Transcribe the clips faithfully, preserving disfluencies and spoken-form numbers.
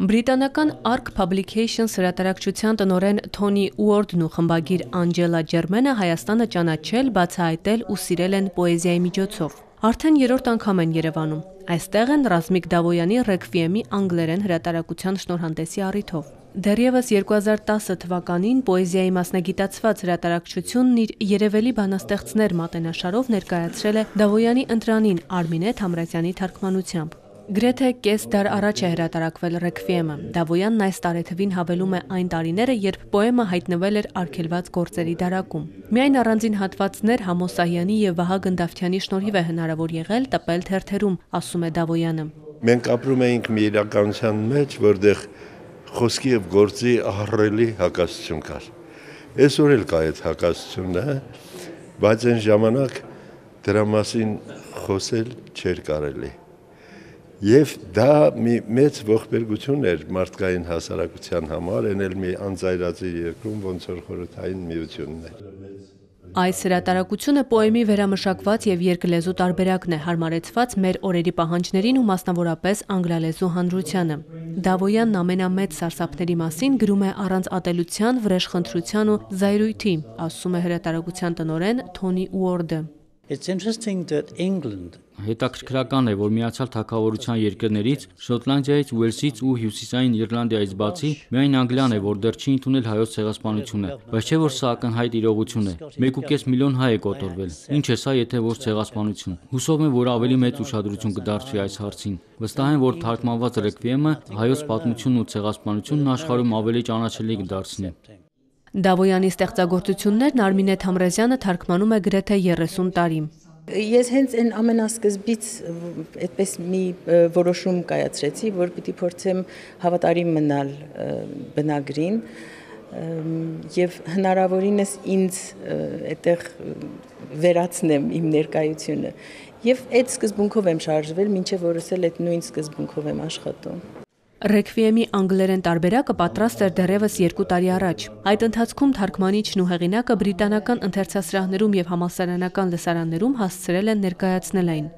Բրիտանական Ark Publications հրատարակչության տնօրեն Թոնի Ուորդն ու խմբագիր Անջելա Ջերմենը Հայաստանը ճանաչել, բացահայտել ու սիրել են պոեզիայի միջոցով։ Արդեն երրորդ անգամ են Երևանում։ Այստեղ են Ռազմիկ Դավոյանի Ռեքվիեմի անգլերեն հրատարակության շնորհանդեսի առիթով։ Դեռևս երկու հազար տասը թվականին պոեզիայի մասնագիտացված հրատարակչությունն իր երևելի բանաստեղծներ մատենաշարով ներկայացրել է Դավոյանի ընտրանին Արմինե Թամրազյանի թարգմանությամբ։ Գրեթե կես դար առաջ է հրատարակվել Ռեքվիեմը։ Դավոյանն այս տարեթվին հավելում է այն տարիները, երբ պոեմը հայտնվել էր արգելված գործերի դարակում։ Միայն առանձին հատվածներ Համո Սահյանի եւ Վահա Գնդավթյանի շնորհիվ է հնարավոր եղել տպել թերթերում, ասում է Դավոյանը։ Մենք ապրում էինք մի իրականության մեջ, որտեղ խոսքի եւ գործի ահռելի հակասություն կար։ Այսօր էլ կա այդ հակասությունը, բայց այն ժամանակ դրա մասին խոսել չէր կարելի։ Եվ դա մի մեծ ողբերգություն էր մարդկային հասարակության համար, այն էլ մի անձայրածի երկրում, ոնց որ խորհրդային միությունն է։ Այս հրատարակությունը պոեմի վերամշակված եւ երկլեզու տարբերակն է, հարմարեցված մեր օրերի պահանջներին ու մասնավորապես անգլալեզու հանրությանը։ Դավոյանն ամենամեծ սարսափների մասին գրում է առանց ատելության, վրեժխնդրության ու զայրույթի, ասում է հրատարակության տնօրեն Թոնի Ուորդը։ Հետաքրքրական է, որ Միացյալ Թագավորության երկրներից, Շոտլանդիայից, Ուելսից ու Հյուսիսային Իռլանդիայից բացի, միայն Անգլիան է, որ դեռ չի ընդունել հայոց ցեղասպանությունը, բայց չէ որ սա ակնհայտ իրողություն է։ մեկ ու կես միլիոն հայ է կոտորվել։ Ինչ է սա, եթե ոչ ցեղասպանություն։ Հուսով եմ, որ ավելի մեծ ուշադրություն կդարձվի այս հարցին։ Վստահ եմ, որ թարգմանված Ռեքվիեմը հայոց պատմությունն ու ցեղասպանությունն աշխարհում ավելի ճանաչելի կդարձնի։ Դավոյանի ստեղծագործություններն Արմինե Թամրազյանը թարգմանում է գրեթե երեսուն տարի։ Ես հենց այն ամենասկզբից այդպես մի որոշում կայացրեցի, որ պիտի փորձեմ հավատարիմ մնալ բնագրին եւ հնարավորինս ինձ այդտեղ վերացնեմ իմ ներկայությունը։ Եվ այդ սկզբունքով եմ շարժվել, մինչև որս էլ այդ նույն սկզբունքով եմ աշխատում։ Ռեքվիեմի անգլերեն տարբերակը պատրաստ էր դեռևս երկու տարի առաջ։ Այդ ընթացքում թարգմանիչն ու հեղինակը բրիտանական ընթերցասրահներում եւ համալսարանական լսարաններում հասցրել են ներկայացնել այն։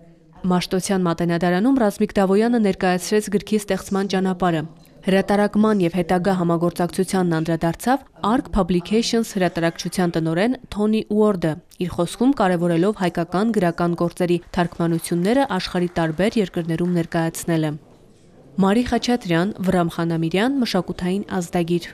Մաշտոցյան մատենադարանում Ռազմիկ Դավոյանը ներկայացրեց գրքի ստեղծման ճանապարհը։ Հրատարակման եւ հետագա համագործակցությանն անդրադարձավ Ark Publications հրատարակչության տնօրեն Թոնի Ուորդը, իր խոսքում կարևորելով հայկական գրական գործերի թարգմանությունները աշխարհի տարբեր երկրներում ներկայացնելը։ Մարի Խաչատրյան, Վրամ Խանամիրյան, Մշակութային ազդագիր։